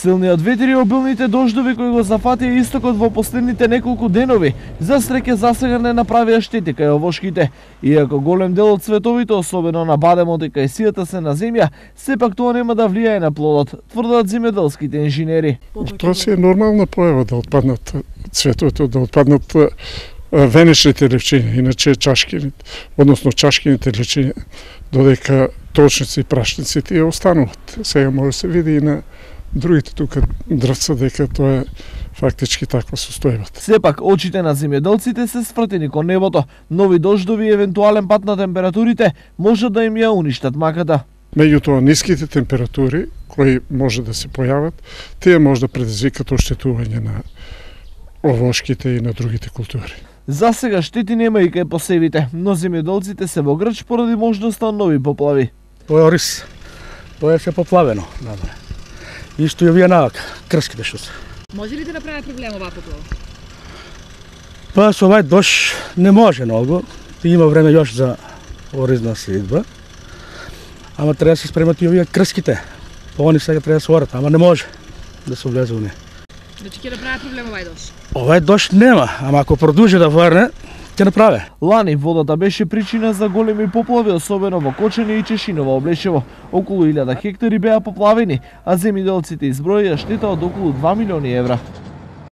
Силниот ветер и обилните дождови кои го зафатија истокот во последните неколку денови, за среќа засега не направија штети кај овошките. Иако голем дел од цветовите, особено на бадемот и кај сијата се на земја, сепак тоа нема да влијае на плодот, тврдат земјоделските инженери. Тоа си е нормална појава да отпаднат цветовите, да отпаднат венечните левчиња, иначе чашкините, односно чашкините левчиња, додека точници и прашници тие остануваат. Сега може да се види и на другите тука дрвца дека тоа е фактички таква состојбата. Сепак очите на земјоделците се свртени кон небото. Нови дождови и евентуален пат на температурите може да им ја уништат маката. Меѓутоа ниските температури кои може да се појават, тие може да предизвикат оштетување на овошките и на другите култури. За сега штети нема и кај посевите, но земјоделците се во грч поради можноста нови поплави. Тоа е ориз. Тоа е се поплавено. Исто и овие навака, крските што се. Може ли да направи проблем оваа поплава? Па со овај дожд не може многу. Има време још за оризна сеидба. Ама треба да се спремат и овие крските. Па они сега треба да се орат, ама не може да се влезе у неа. Значи ќе направи проблем овај дожд? Овај дожд нема, ама ако продолжи да врне, ќе направи. Лани водата беше причина за големи поплави, особено во Кочани и Чешиново облешево. Околу 1000 хектари беа поплавени, а земјоделците изброија штета од околу 2 милиони евра.